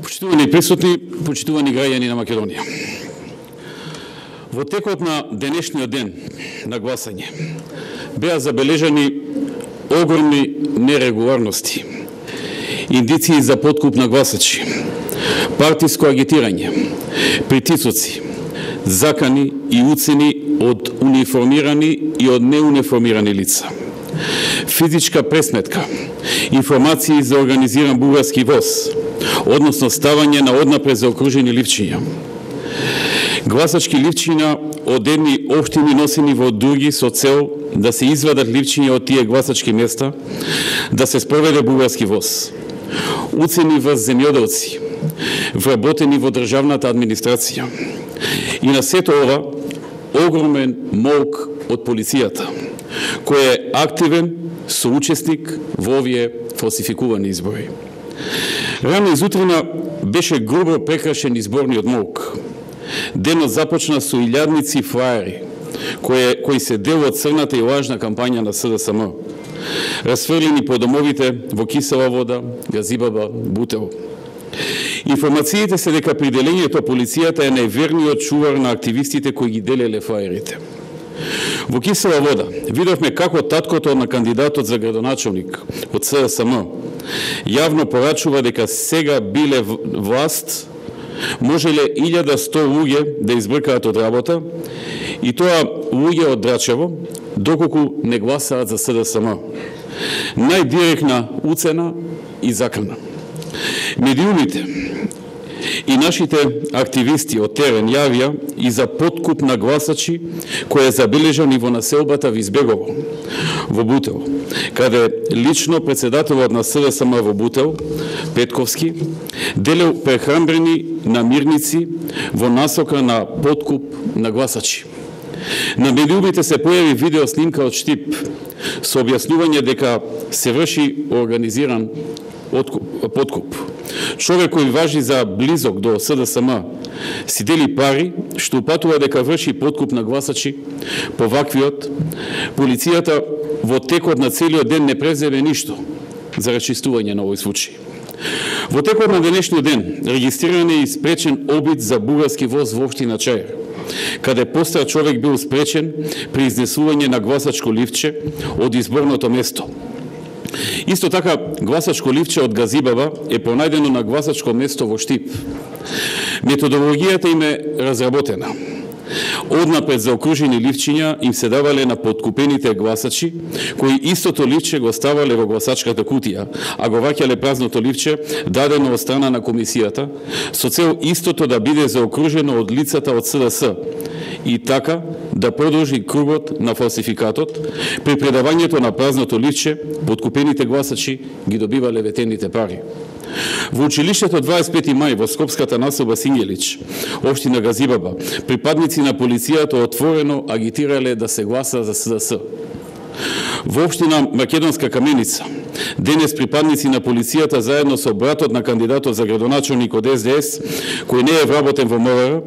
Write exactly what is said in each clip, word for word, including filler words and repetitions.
Почитувани присутни, почитувани граѓани на Македонија. Во текот на денешниот ден на гласање беа забележани огромни нерегуларности, индиции за подкуп на гласачи, партиско агитирање, притисоци, закани и уцени од униформирани и од неуниформирани лица, физичка пресметка, информации за организиран бугарски воз, односно ставање на однапред заокружени ливчиња, гласачки ливчиња од едни општини носени во други со цел да се извадат ливчиња од тие гласачки места, да се спроведе бугарски воз, уцени врз земјоделци, вработени во државната администрација. И на сето ова, огромен молк од полицијата, кој е активен соучесник во овие фалсификувани избори. Рано изутрина беше грубо прекрашен изборниот молк. Денот започна со илјадници флаери, кои, кои се дел од црната и лажна кампања на С Д С М, расфрлени по домовите во Кисела Вода, Газибаба, Бутел. Информациите се дека при делењето полицијата е најверниот чувар на активистите кои ги делеле флаерите. Во Кисела Вода видовме како таткото на кандидатот за градоначалник од С Д С М јавно порачува дека сега биле власт, можеле илјада сто луѓе да избркаат од работа, и тоа луѓе од Драчево, доколку не гласаат за С Д С М. Најдиректна уцена и закана. Медиумите и нашите активисти од терен јавија и за подкуп на гласачи кој е забележан и во населбата Визбегово, во Бутел, каде лично председателот на С Д С М во Бутел, Петковски, делел прехранбрени намирници во насока на подкуп на гласачи. На медиумите се појави видео снимка од Штип со објаснување дека се врши организиран подкуп. Човек кој важи за близок до С Д С М си дели пари, што упатува дека врши подкуп на гласачи. По ваквиот, полицијата во текот на целиот ден не преземе ништо за расчистување на овој случај. Во текот на денешниот ден регистриран е и спречен обид за бугарски воз во општина Чаир, каде постар човек бил спречен при изнесување на гласачко ливче од изборното место. Исто така, гласачко ливче од Газибаба е пронајдено на гласачко место во Штип. Методологијата им е разработена. Однапред за окружени ливчиња им се давале на подкупените гласачи, кои истото ливче го ставале во гласачката кутија, а го ваќале празното ливче дадено од страна на комисијата, со цел истото да биде заокружено од лицата од С Д С, и така да продолжи кругот на фалсификатот. При предавањето на празното ливче, подкупените гласачи ги добивале ветените пари. Во училиштето дваесет и пети мај во скопската населба Сињелич, општина Газибаба, припадници на полицијата отворено агитирале да се гласа за С Д С. Во општина Македонска Каменица, денес припадници на полицијата заедно со братот на кандидатот за градоначалник од С Д С, кој не е вработен во МВР,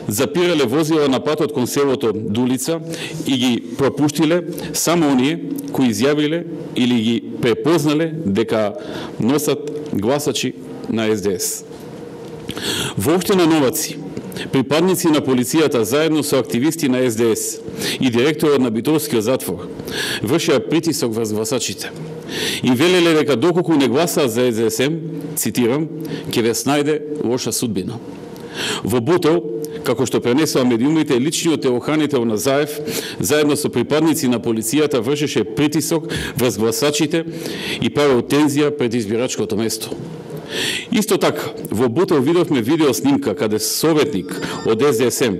запирале возила на патот кон селото Дулица и ги пропуштиле само оние кои изјавиле или ги препознале дека носат гласачи на С Д С. Во општина Новаци, припадници на полицијата заедно со активисти на С Д С и директорот на Битолскиот затвор вршеа притисок врз гласачите. И велеле дека доколку не гласаат за С Д С М, цитирам, ќе ве снајде лоша судбина. Во Бутел, како што пренесува медиумите, личниот телохранител на Заев, заедно со припадници на полицијата, вршеше притисок врз гласачите и правил тензија пред избирачкото место. Исто така, во Бутел видовме видео снимка каде советник од С Д С М,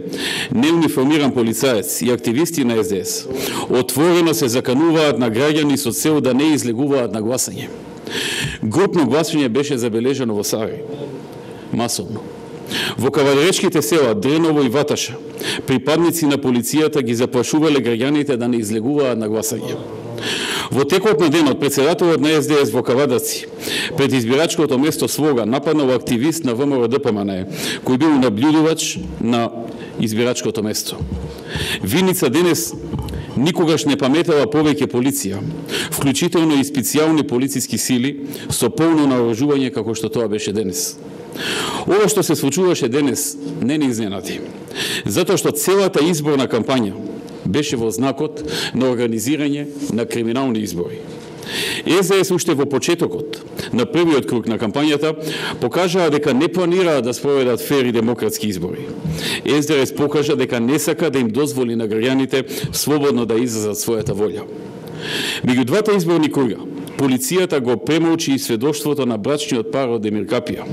неуниформиран полицаец и активисти на С Д С отворено се закануваат на граѓани со цел да не излегуваат на гласање. Групно гласање беше забележано во Сари, масовно. Во кавалеречките села Дреново и Ваташа, припадници на полицијата ги заплашувале граѓаните да не излегуваат на гласање. Во текот на денот, председателот на С Д С во Кавадаци, пред избирачкото место Слога, нападнал активист на В М Р Д П М Н Е, кој бил наблюдувач на избирачкото место. Виница денес Никогаш не паметала повеќе полиција, вклучително и специјални полициски сили со полно наоружување како што тоа беше денес. Ова што се случуваше денес не ни изненади, затоа што целата изборна кампања беше во знакот на организирање на криминални избори. Ес Де Ес уште во почетокот на првиот круг на кампањата покажаа дека не планираат да спроведат фер и демократски избори. Ес Де Ес покажа дека не сака да им дозволи на граѓаните слободно да изразат својата волја. Меѓу двата изборни круга, полицијата го премолчи и сведоштвото на брачниот пар од Емир Капија,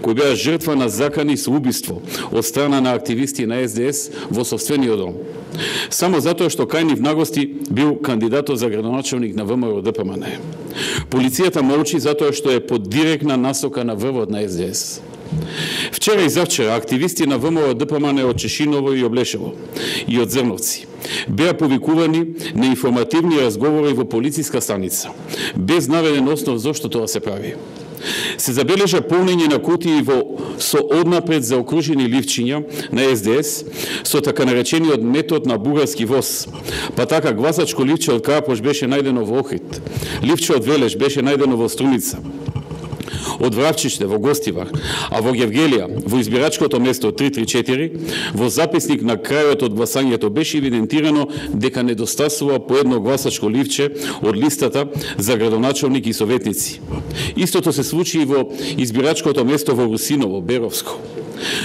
кој беа жртва на закани со убиство од страна на активисти на Ес Де Ес во собствениот дом, само затоа што кај нив нагости бил кандидатот за градоначалник на ВМРО Д П М Н. Полицијата молчи затоа што е под директна насока на врвот на Ес Де Ес. Вчера и завчера активисти на ВМРО Д П М Н од Чешиново и Облешево и од Зрновци беа повикувани на информативни разговори во полициска станица, без наведен основ зошто тоа се прави. Се забележа полнење на кутии во со однапред заокружени ливчиња на Ес Де Ес со така наречениот метод на бугарски воз. Па така гласачко ливче од Карапош беше најдено во Охрид, ливче од Велеш беше најдено во Струница, од Вравчиште во Гостивар, а во Гевгелија, во избирачкото место три три четири, во записник на крајот од гласањето беше евидентирано дека недостасува по едно гласачко ливче од листата за градоначалник и советници. Истото се случи и во избирачкото место во Русиново, Беровско.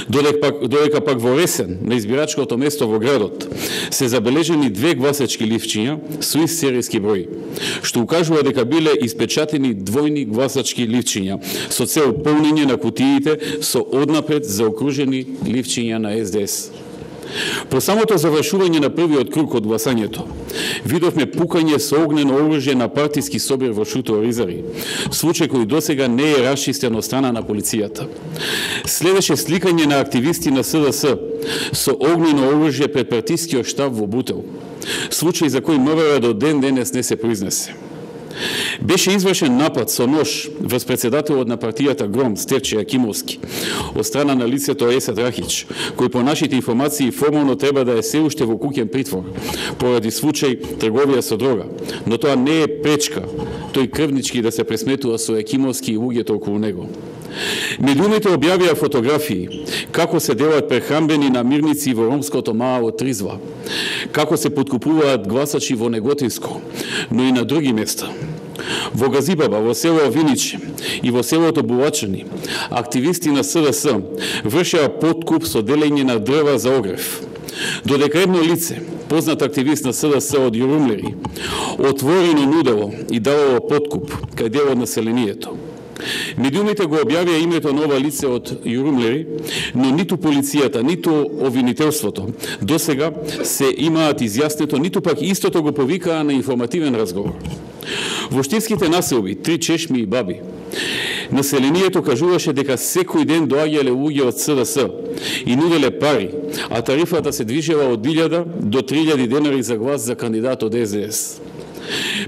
Додека пак, додека пак во Ресен, на избирачкото место во градот, се забележени две гласачки ливчиња со ист серијски број, што укажува дека биле испечатени двојни гласачки ливчиња со цел полнење на кутиите со однапред заокружени ливчиња на Ес Де Ес. По самото завршување на првиот круг од гласањето, видовме пукање со огнено оружје на партиски собир во Шуто Оризари, случај кој досега не е расчистен од страна на полицијата. Следеше сликање на активисти на С Д С со огнено оружје пред партискиот штаб во Бутел, случај за кој МВР до ден денес не се произнесе. Беше извршен напад со нож врз председателот на партијата Гром, Стефче Јакимовски, од страна на лицето Есад Рахич, кој по нашите информации формално треба да е се уште во куќен притвор, поради случај трговија со дрога, но тоа не е пречка тој крвнички да се пресметува со Јакимовски и луѓето околу него. Медиумите објавија фотографии како се делат прехрамбени намирници во ромското мало Тризва, како се подкупуваат гласачи во Неготинско, но и на други места. Во Газибаба, во село Виниче и во селото Булачани, активисти на С Д С вршеа подкуп со делење на дрва за огрев. Додека едно лице, познат активист на С Д С од Јурумлери, отворено нудело и давало подкуп кај дел од населението. Медиумите го објавија името на ова лице од Јурумлери, но ниту полицијата, ниту обвинителството досега се имаат изјаснето, ниту пак истото го повикаа на информативен разговор. Во штинските населби, Три Чешми и Баби, населението кажуваше дека секој ден доаѓале луѓе од С Д С и нуделе пари, а тарифата се движела од илјада до три илјади денари за глас за кандидат од Ес Де Ес.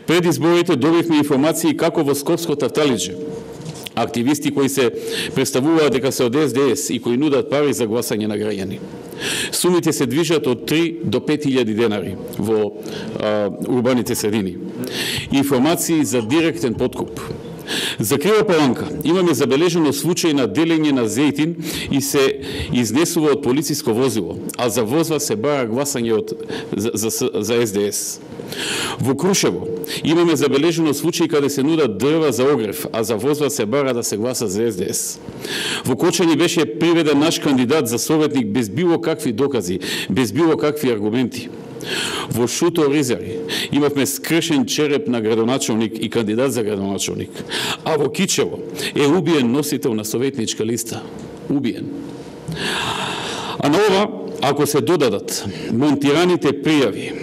Пред изборите добивме информации како во Скопско Тавталиџе активисти кои се представуваат дека се од Ес Де Ес и кои нудат пари за гласање на граѓани. Сумите се движат од три до пет илјади денари во а, урбаните средини. Информации за директен подкуп. За Крива Паланка имаме забележено случај на делење на зејтин и се изнесува од полициско возило, а за возва се бара гласање од, за, за, за Ес Де Ес. Во Крушево имаме забележено случај каде се нудат дрва за огрев, а за возва се бара да се гласа за Ес Де Ес. Во Кочани беше приведен наш кандидат за советник без било какви докази, без било какви аргументи. Во Шуто Оризари имавме скршен череп на градоначалник и кандидат за градоначалник, а во Кичево е убиен носител на советничка листа. Убиен. А на ова, ако се додадат монтираните пријави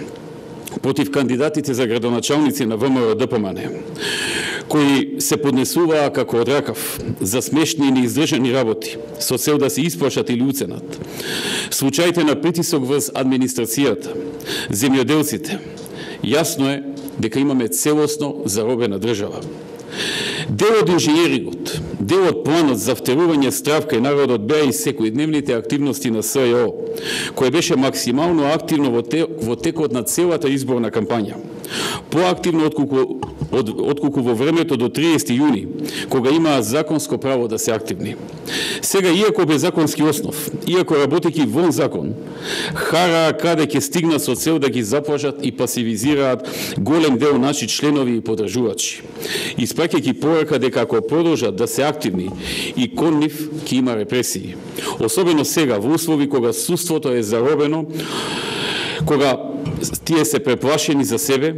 против кандидатите за градоначалници на ВМРО Д П М Н, кои се поднесуваа како од ракав за смешни и неиздржани работи, со цел да се исплашат или уценат, случаите на притисок врз администрацијата, земјоделците, јасно е дека имаме целосно заробена држава. Дел од инженерингот дел од планот за втерување страв кај народот беа и секојдневните активности на СЈО, кој беше максимално активно во, те, во текот на целата изборна кампања. Поактивно отколку, од, отколку во времето до триесети јуни, кога имаа законско право да се активни. Сега, иако без законски основ, иако работејќи вон закон, хараа каде ќе стигнат со цел да ги заплашат и пасивизираат голем дел наши членови и подржувачи, испраќајќи порака дека ако продолжат да се активни и кон нив ќе има репресии. Особено сега, во услови кога суството е заробено, кога тие се преплашени за себе,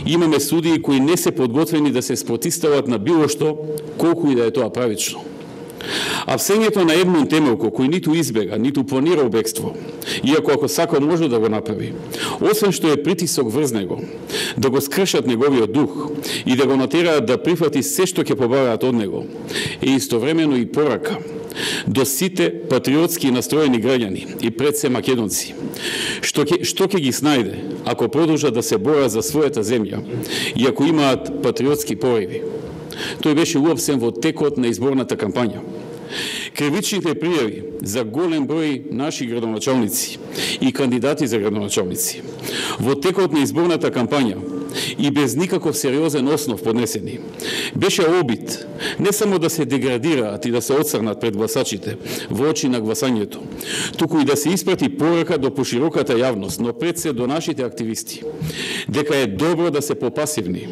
имаме судии кои не се подготвени да се спротивстават на било што, колку и да е тоа правично. Апсењето на Едмунд Темелко, кој ниту избега, ниту планирал бегство, иако ако сака може да го направи, освен што е притисок врз него, да го скршат неговиот дух и да го натераат да прифати се што ќе побараат од него, е истовремено и порака до сите патриотски настроени граѓани и пред се македонци, што ќе, што ќе ги снајде ако продолжат да се борат за својата земја и ако имаат патриотски пориви. Тој беше уапсен во текот на изборната кампања. Кривичните пријави за голем број наши градоначалници и кандидати за градоначалници во текот на изборната кампања и без никаков сериозен основ поднесени, беше обид не само да се деградираат и да се отцрнат пред гласачите во очи на гласањето, туку и да се испрати порака до пошироката јавност, но пред се до нашите активисти, дека е добро да се попасивни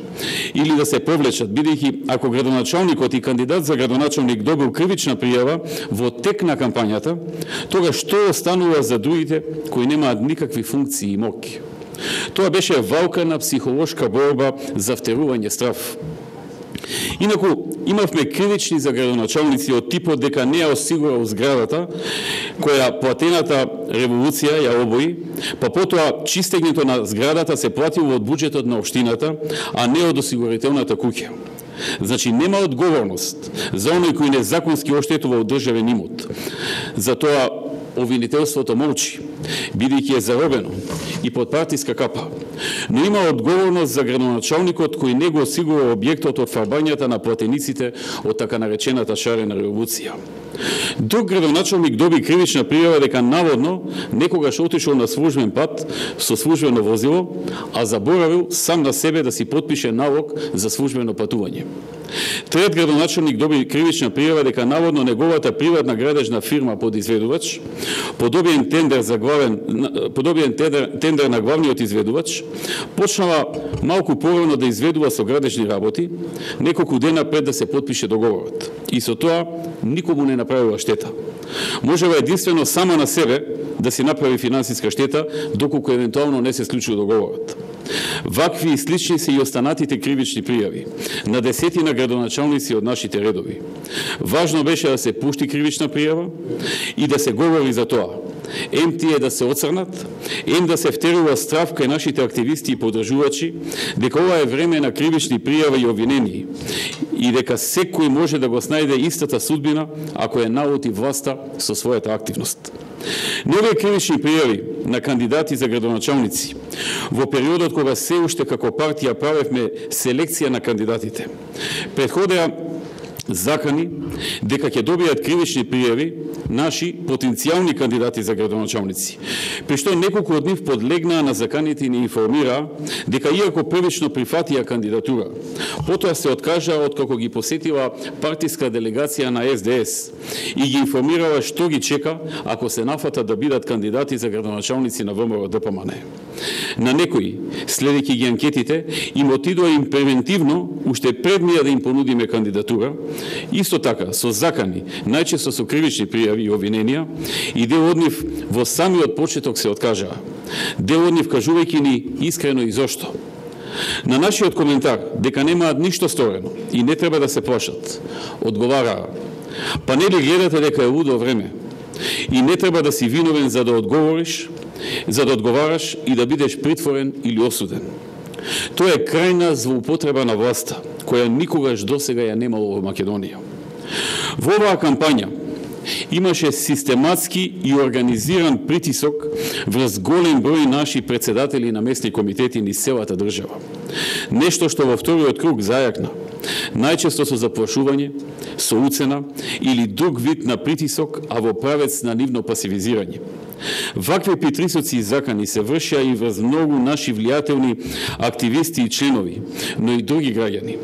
или да се повлечат, бидејќи ако градоначалникот и кандидат за градоначалник добил кривична пријава во тек на кампањата, тога што останува за другите кои немаат никакви функции и моки? Тоа беше валкана психолошка борба за втерување страв. Инаку, имавме кривични за градоначалници од типот дека не ја осигурал зградата, која платената револуција ја обои, па потоа чистењето на зградата се платило од буџетот на општината, а не од осигурителната куќа. Значи, нема одговорност за оној кој незаконски оштетувал државен имот. Затоа обвинителството молчи, бидејќи е заробено и под партиска капа. Но има одговорност за градоначалникот кој не го осигурува објектот од фарбањата на платениците од така наречената шарена револуција. Друг градоначалник доби кривична пријава дека наводно некогаш отишол на службен пат со службено возило, а заборавил сам на себе да си потпише налог за службено патување. Трет градоначалник доби кривична пријава дека наводно неговата приватна градежна фирма подизведувач, подобиен тендер за главен подобиен тендер, тендер на главниот изведувач, почнала малку порано да изведува со градежни работи, неколку дена пред да се потпише договорот. И со тоа никому не направила штета. Можева единствено сама на себе да си направи финансиска штета, доколку евентуално не се склучил договорот. Вакви и слични се и останатите кривични пријави на десетина градоначалници од нашите редови. Важно беше да се пушти кривична пријава и да се говори за тоа. Ем тие да се оцрнат, ем да се втерува страв кај нашите активисти и подржувачи, дека ова е време на кривични пријави и обвинени и дека секој може да го снајде истата судбина ако е наоти власта со својата активност. Нови кривични пријави на кандидати за градоначалници во периодот кога се уште како партија правевме селекција на кандидатите. Предходеа закани дека ќе добијат кривични пријави наши потенцијални кандидати за градоначалници, при што неколку од нив подлегнаа на заканите и ни информираа дека иако првично прифатија кандидатура, потоа се откажаа откако ги посетила партиска делегација на Ес Де Ес и ги информирала што ги чека ако се нафатат да бидат кандидати за градоначалници на Вэ Ем Ро Де Пе Ем Ен. На некои, следејќи ги анкетите, им отидоа им превентивно, уште пред ние да им понудиме кандидатура, исто така со закани, најчесто со кривични пријави и обвиненија, и дел од нив во самиот почеток се откажаа. Дел од нив кажувајќи ни искрено и зошто. На нашиот коментар дека немаат ништо сторено и не треба да се плашат, одговараа: па нели гледате дека е лудо време и не треба да си виновен за да одговориш, за да одговараш и да бидеш притворен или осуден. Тоа е крајна злоупотреба на власта, која никогаш досега ја немало во Македонија. Во оваа кампања имаше систематски и организиран притисок врз голем број наши председатели на местни комитети низ целата држава. Нешто што во вториот круг зајакна најчесто со заплашување, со уцена или друг вид на притисок, а во правец на нивно пасивизирање. Вакви притисоци и закани се вршеа и врз многу наши влијателни активисти и членови, но и други граѓани.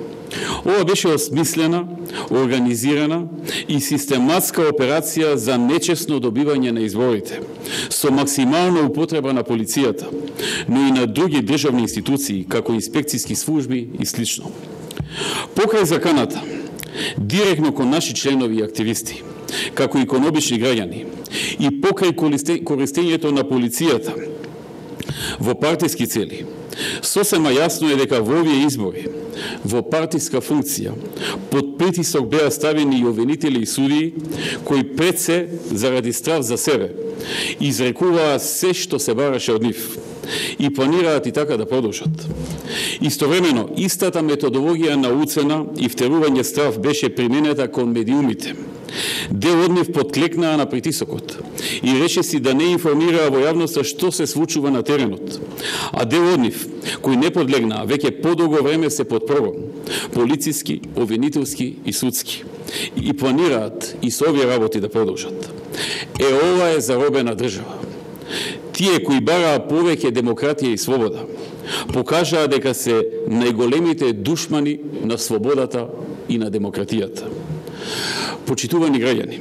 Ова беше осмислена, организирана и систематска операција за нечесно добивање на изборите, со максимална употреба на полицијата, но и на други државни институции, како инспекцијски служби и слично. Покрај заканата, директно кон наши членови и активисти, како и кон обични граѓани, и покрај користењето на полицијата во партиски цели, сосема јасно е дека во овие избори, во партиска функција, под притисок беа ставени и обвинители и судии, кои пред се, заради страв за себе, изрекуваа се што се бараше од нив и планираат и така да продолжат. Истовремено, истата методологија на уцена и втерување страв беше применета кон медиумите. Дел од нив подклекнаа на притисокот и рече си да не информираа во јавноста што се случува на теренот, а дел од нив, кои не подлегнаа, веќе подолго време се под прогон, полициски, обвинителски и судски, и планираат и со овие работи да продолжат. Е, ова е заробена држава. Тие кои бараа повеќе демократија и слобода, покажаа дека се најголемите душмани на слободата и на демократијата. Почитувани граѓани,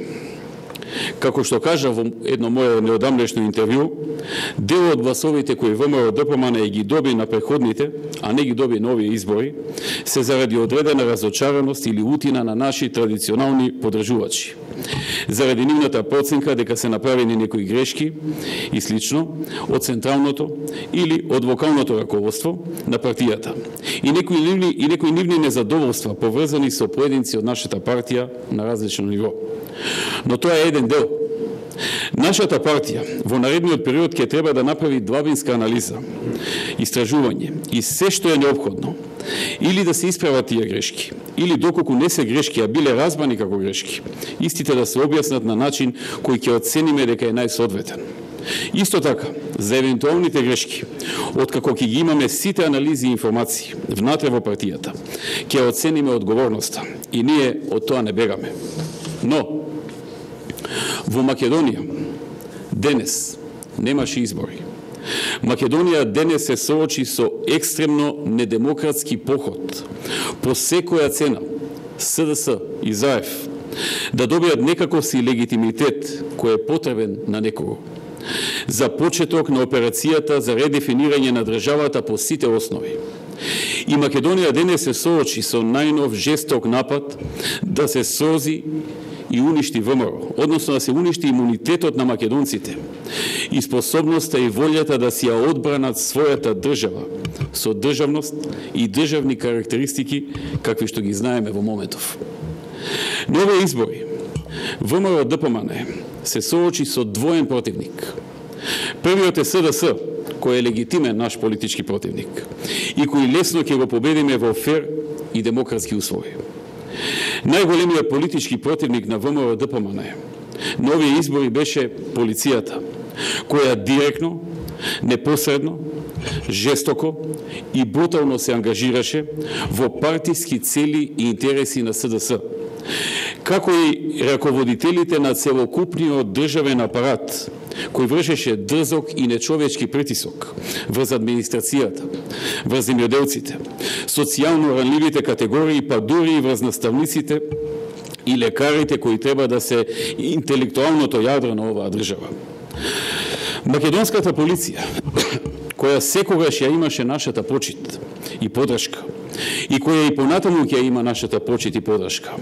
како што кажа во едно моје неодамнешно интервју, дел од гласовите кои ВМРО-ДПМН ги доби на преходните, а не ги доби на овие избори, се заради одредена разочараност или утина на наши традиционални подржувачи. Заради нивната проценка дека се направени некои грешки и слично од централното или од локалното раководство на партијата и некои нивни, и некои нивни незадоволства поврзани со поединци од нашата партија на различно ниво. Но тоа е еден дел. Нашата партија во наредниот период ќе треба да направи длабинска анализа, истражување и се што е неопходно, или да се исправат тие грешки, или доколку не се грешки, а биле разбрани како грешки, истите да се објаснат на начин кој ќе оцениме дека е најсоодветен. Исто така, за евентуалните грешки, откако ќе ги имаме сите анализи и информации внатре во партијата, ќе оцениме одговорноста и ние од тоа не бегаме. Но, во Македонија денес немаше избори. Македонија денес се соочи со екстремно недемократски поход по секоја цена СДС и ЗАЕФ да добијат некаков си легитимитет кој е потребен на некого за почеток на операцијата за редефинирање на државата по сите основи. И Македонија денес се соочи со најнов жесток напад да се срози и уништи ВМРО, односно да се уништи имунитетот на македонците и способноста и волјата да си ја одбранат својата држава со државност и државни карактеристики какви што ги знаеме во моментов. На овие избори ВМРО-ДПМН се соочи со двоен противник. Првиот е СДС, кој е легитимен наш политички противник и кој лесно ќе го победиме во фер и демократски услови. Најголемиот политички противник на ВМРО-ДПМН на овие избори беше полицијата, која директно, непосредно, жестоко и брутално се ангажираше во партиски цели и интереси на СДС, како и раководителите на целокупниот државен апарат, кој вршеше дрзок и нечовечки притисок врз администрацијата, врз земјоделците, социјално ранливите категории, па дури и врз наставниците и лекарите кои треба да се интелектуалното јадро на оваа држава. Македонската полиција, која секогаш ја имаше нашата почит и подршка, и која и понатаму ќе има нашата почит и подршка,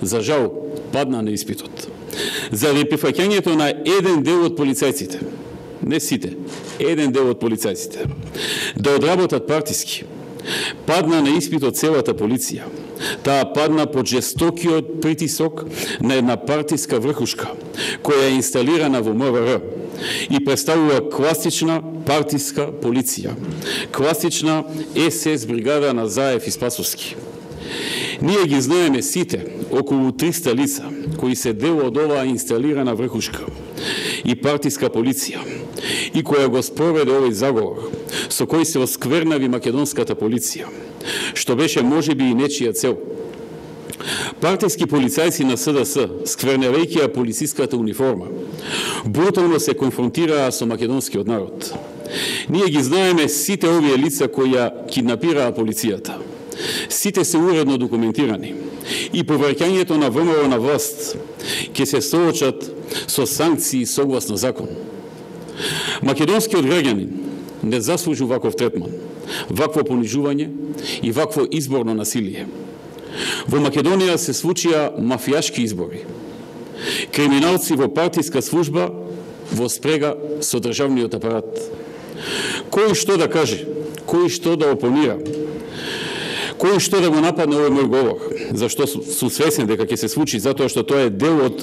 за жал падна на испитот. Заради прифаќањето на еден дел од полицајците, не сите, еден дел од полицајците, да одработат партиски, падна на испитот целата полиција. Таа падна под жестокиот притисок на една партиска врхушка, која е инсталирана во МВР и представува класична партиска полиција, класична ес-ес бригада на ЗАЕФ и Спасовски. Ние ги знаеме сите, околу триста лица, кои се дел од оваа инсталирана врхушка и партиска полиција, и која го спроведе овој заговор, со кој се осквернави македонската полиција, што беше можеби и нечија цел. Партијски полицајци на С Д С, скверневајќи ја полициската униформа, брутално се конфронтираа со македонскиот народ. Ние ги знаеме сите овие лица кои ја киднапираа полицијата. Сите се уредно документирани и повраќањето на ВМРО на власт ќе се соочат со санкции согласно закон. Македонскиот граѓанин не заслужи ваков третман, вакво понижување и вакво изборно насилие. Во Македонија се случија мафијашки избори. Криминалци во партиска служба во спрега со државниот апарат. Кој што да каже, кој што да опонира, кој што да го нападне овој мој говор, зашто сум свесен дека ќе се случи, затоа што тоа е дел од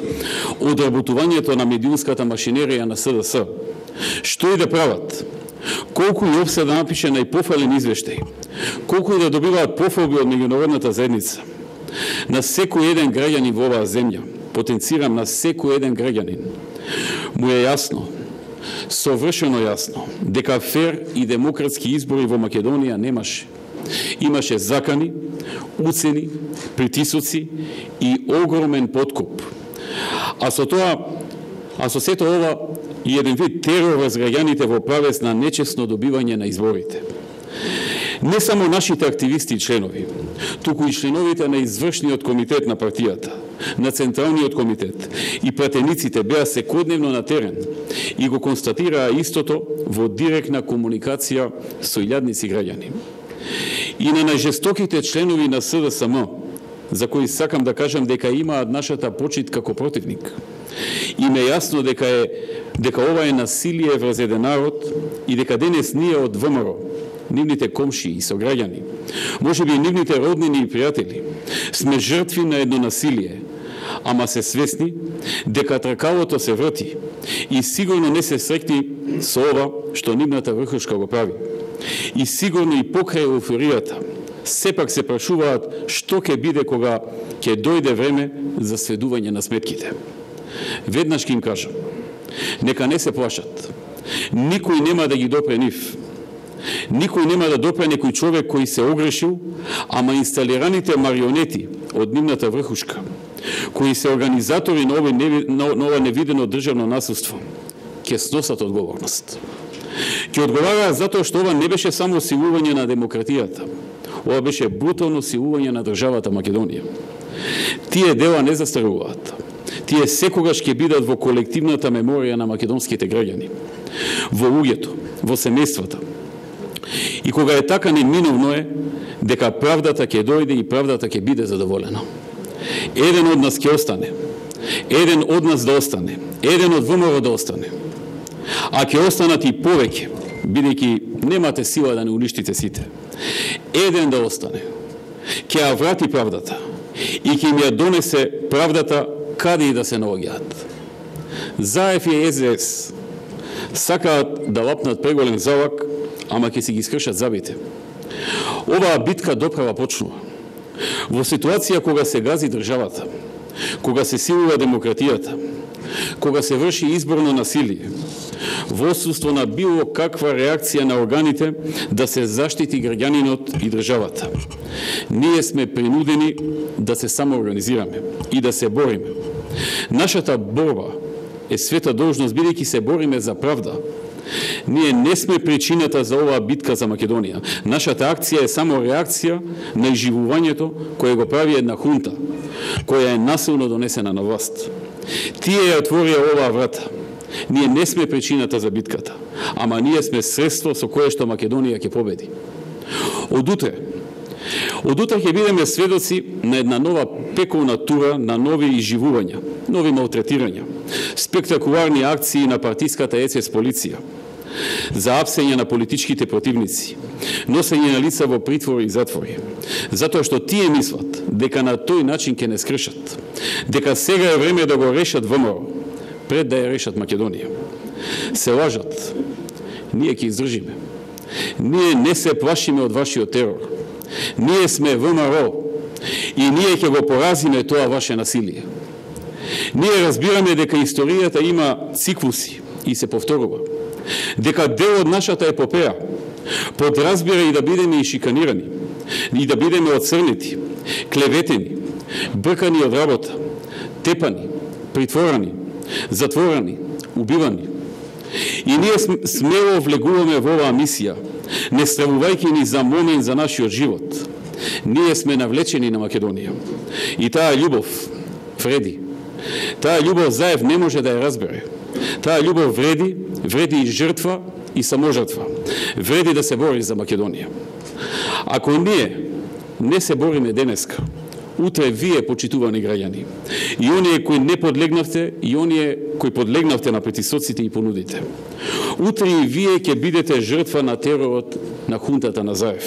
одработувањето на медиумската машинерија на С Д С. Што и да прават, колку и опсе да напише најпофален извештај, колку и да добиваат пофалби од меѓународната заедница, на секој еден граѓанин во оваа земја, потенцирам на секој еден граѓанин, му е јасно, совршено јасно, дека фер и демократски избори во Македонија немаше. Имаше закани, уцени, притисоци и огромен подкуп. А со тоа, а со сето ова и еден вид терор врз граѓаните во правец на нечесно добивање на изборите. Не само нашите активисти и членови, туку и членовите на извршниот комитет на партијата, на Централниот комитет и пратениците беа секојдневно на терен и го констатираа истото во директна комуникација со илјадници граѓани. И на најжестоките членови на С Д С М, за кои сакам да кажам дека имаат нашата почит како противник. Им е јасно дека е дека ова е насилие врз еден народ и дека денес ние од В М Р, нивните комши и сограѓани, можеби и нивните роднини и пријатели, сме жртви на едно насилие, ама се свесни дека тркалото се врти и сигурно не се срекни со ова што нивната врхушка го прави. И сигурно и покрај еуфоријата, сепак се прашуваат што ќе биде кога ќе дојде време за сведување на сметките. Веднаш ќе им кажам, нека не се плашат. Никој нема да ги допре нив. Никој нема да допре некој човек кој се огрешил, ама инсталираните марионети од нивната врхушка, кои се организатори на ова, на ова невидено државно насилство, ќе сносат одговорност. Ќе одговараат затоа што ова не беше само силување на демократијата, ова беше брутално силување на државата Македонија. Тие дела не застаруваат. Тие секогаш ќе бидат во колективната меморија на македонските граѓани, во луѓето, во семејствата. И кога е така, неминовно е дека правдата ќе дојде и правдата ќе биде задоволена. Еден од нас ќе остане, еден од нас да остане, еден од В М Р да остане. А ќе останат и повеќе, бидејќи немате сила да не уништите сите. Еден да остане, ќе ја врати правдата и ќе им ја донесе правдата каде и да се наоѓаат. Заев и С Д С сакаат да лапнат преголем залак, ама ќе си ги скршат забите. Оваа битка доправа почнува. Во ситуација кога се гази државата, кога се силува демократијата, кога се врши изборно насилие, во отсуство на било каква реакција на органите да се заштити граѓанинот и државата. Ние сме принудени да се самоорганизираме и да се бориме. Нашата борба е света должност, бидејќи се бориме за правда. Ние не сме причината за оваа битка за Македонија. Нашата акција е само реакција на изживувањето кое го прави една хунта, која е насилно донесена на власт. Тие ја отворија оваа врата. Ние не сме причината за битката, ама ние сме средство со кое што Македонија ќе победи. Од утре, од утре ќе бидеме сведоци на една нова пеколна тура на нови изживувања, нови малтретирања, спектакуларни акции на партиската Е С С полиција, за апсење на политичките противници, носење на лица во притвори и затвори, затоа што тие мислат дека на тој начин ќе не скршат, дека сега е време да го решат В М Р, пред да ја решат Македонија. Се лажат. Ние ќе издржиме. Ние не се плашиме од вашиот терор. Ние сме В М Р и ние ќе го поразиме тоа ваше насилие. Ние разбираме дека историјата има циклуси и се повторува. Дека дел од нашата епопеја подразбира и да бидеме и шиканирани, и да бидеме оцрнети, клеветени, бркани од работа, тепани, притворани, затворани, убивани. И ние смело влегуваме во оваа мисија, не стравувајќи ни за момент за нашиот живот. Ние сме навлечени на Македонија. И таа љубов вреди. Таа љубов Заев не може да ја разбере. Таа љубов вреди, вреди и жртва и саможртва. Вреди да се бори за Македонија. Ако ние не се бориме денеска, утре вие, почитувани граѓани, и оние кои не подлегнавте, и оние кои подлегнавте на притисоците и понудите, утре и вие ќе бидете жртва на теророт на хунтата на Заев.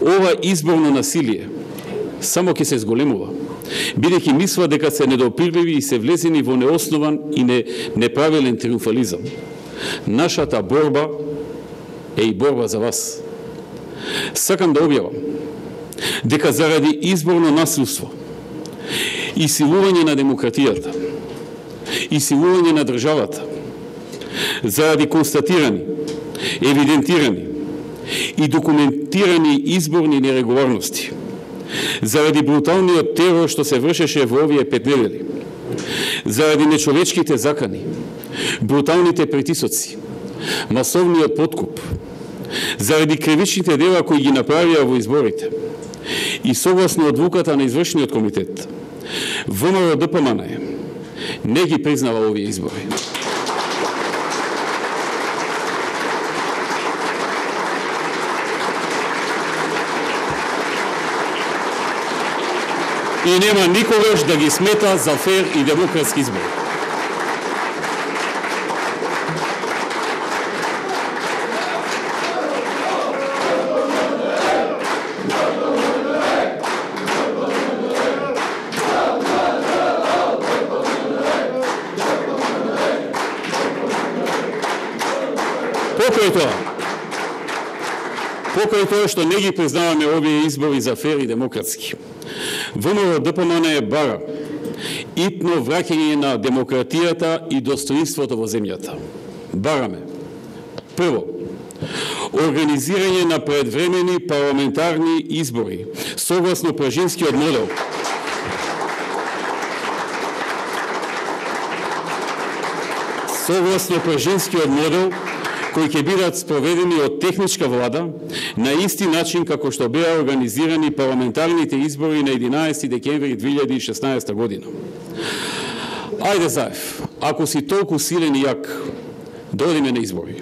Ова изборно насилие само ќе се зголемува, бидејќи мислува дека се недопирливи и се влезени во неоснован и не, неправилен триумфализам. Нашата борба е и борба за вас. Сакам да објавам дека заради изборно насилство и силување на демократијата, и силување на државата, заради констатирани, евидентирани и документирани изборни нерегуларности, заради бруталниот терор што се вршеше во овие пет недели, заради нечовечките закани, бруталните притисоци, масовниот подкуп, заради кривичните дела кои ги направија во изборите и согласно одлуката на извршниот комитет, ВМРО Д П М Н не ги признава овие избори. И нема никогаш да ги смета за фер и демократски избори. Покрај тоа, покрај тоа што не ги признаваме овие избори за фер и демократски, ВМРО Д П М Н е бара итно враќање на демократијата и достоинството во земјата. Бараме, прво, организирање на предвремени парламентарни избори согласно пражинскиот модел, согласно пражинскиот модел, кои ќе бидат спроведени од техничка влада на исти начин како што беа организирани парламентарните избори на единаесети декември две илјади и шеснаесета година. Ајде, Заев, ако си толку силен и јак, дојдеме на избори.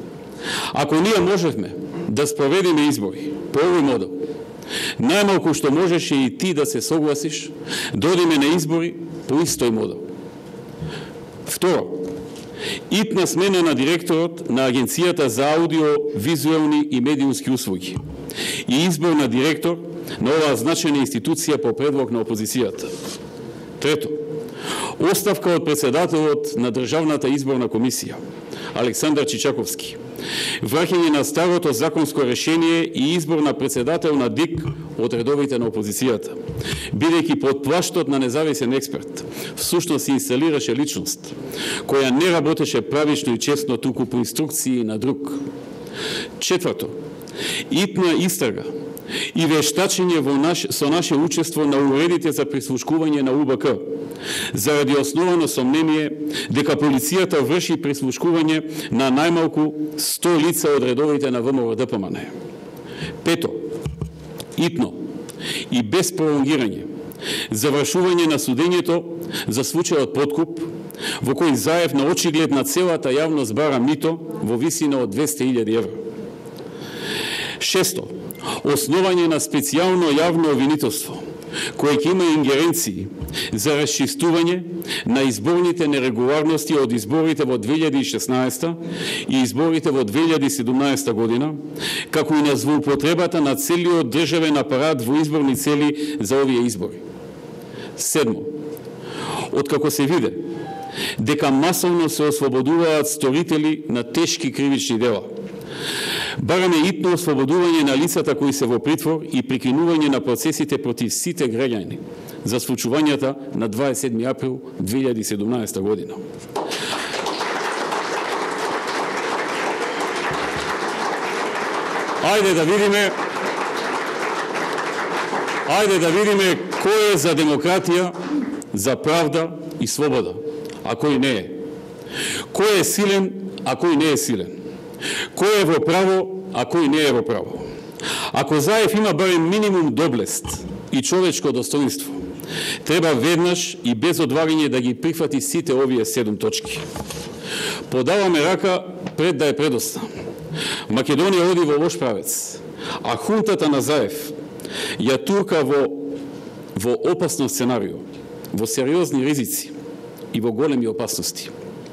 Ако ние можевме да спроведеме избори по овој модел, најмалку што можеше и ти да се согласиш, дојдеме на избори по истој модел. Второ, итна смена на директорот на Агенцијата за аудио-визуелни и медиумски услуги и избор на директор на оваа значајна институција по предлог на опозицијата. Трето, оставка од председателот на Државната изборна комисија, Александар Чичаковски, враќање на старото законско решение и избор на председател на Д И К од редовите на опозицијата, бидејќи под плаштот на независен експерт всушност се инсталираше личност, која не работеше правично и честно, туку по инструкции на друг. Четврто, итна истрага и вештачење во наш, со наше учество на уредите за прислушкување на У Б К, заради основано сомнение дека полицијата врши прислушкување на најмалку сто лица од редовите на ВМРО Д П М Н. Пето, итно и без пролонгирање, завршување на судењето за случајот подкуп, во кој Заев на очиглед на целата јавност бара мито во висина од двесте илјади евра. Шесто, основање на специјално јавно обвинителство, кој ќе има ингеренции за расчистување на изборните нерегуларности од изборите во две илјади и шеснаесета и изборите во две илјади и седумнаесета година, како и на злоупотребата на целиот државен апарат во изборни цели за овие избори. Седмо, откако се виде дека масовно се ослободуваат сторители на тешки кривични дела, бараме итно ослободување на лицата кои се во притвор и прекинување на процесите против сите граѓани за случувањата на дваесет и седми април две илјади и седумнаесета година. Ајде да видиме Ајде да видиме Кој е за демократија, за правда и слобода, а кој не е? Кој е силен, а кој не е силен? Кој е во право, а кој не е во право? Ако Заев има барем минимум доблест и човечко достоинство, треба веднаш и без одлагање да ги прифати сите овие седум точки. Подаваме рака пред да е предоста. Македонија оди во лош правец, а хунтата на Заев ја турка во, во опасно сценарио, во сериозни ризици и во големи опасности.